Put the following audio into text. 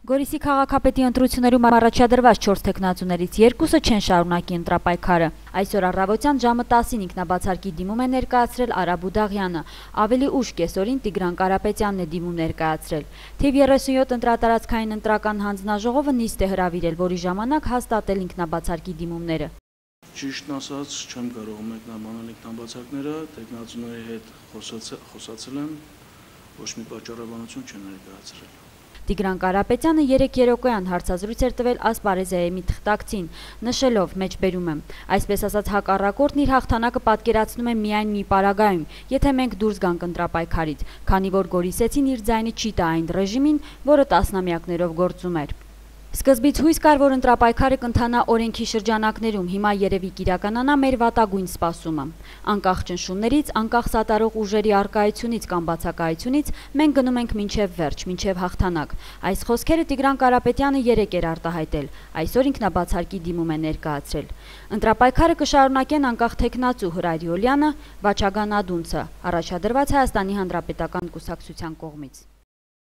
Գորիսի քաղաքապետի ընտրություններում առաջադրված 4 թեկնածուներից 2-ը չեն շարունակի ընտրապայքարը։ Այսօր առավոտյան ժամը 10-ին ինքնաբացարկի դիմում է ներկայացրել Արա Բուդաղյանը, ավելի ուշ կեսօրին Տիգրան Կարապետյանն է դիմում ներկայացրել։ Թիվ 37 ընտրատարածքային ընտրական հանձնաժողովը նիստ է հրավիրել, որի ժամանակ հաստատել ինքնաբացարկի դիմումները։ Ճիշտն ասած, չեմ կարող մեկնաբանել ինքնաբացարկները, թեկնածուների հետ խոսացել եմ, ոչ մի պատճառաբանություն չեն ներկայացրել։ Տիգրան Կարապետյանը 3 երեկոյան հարցազրույց էր տվել Ասպարեզիայի մի թղթակցին, նշելով, մեջբերում եմ, այսպես ասած հակառակորդն իր հաղթանակը պատկերացնում է միայն մի պարագայում, եթե մենք դուրս գանք ընտրապայքարից, քանի որ Գորիսեցին իր ձայնը չի տա այն ռեժիմին, որը տասնամյակներով գործում էր։ Սկզբից հույս կար, որ ընտրապայքարը կընթանա օրենքի շրջանակներում, հիմա երևի կիրականանա մեր վատագույն սպասումը։ Անկախ ճնշումներից, անկախ սատարող ուժերի առկայությունից կամ բացակայությունից, մենք գնում ենք մինչև վերջ, մինչև հաղթանակ։ Այս խոսքերը Տիգրան Կարապետյանը երեկ էր արտահայտել, այսօր ինքնաբացարկի դիմում է ներկայացրել։ Ընտրապայքարը կշարունակեն անկախ թեկնածու Հրայր Յոլյանը, Վաչագան Ադունցը, առաջադրված Հայաստանի Հանրապետական կուսակցության կողմից։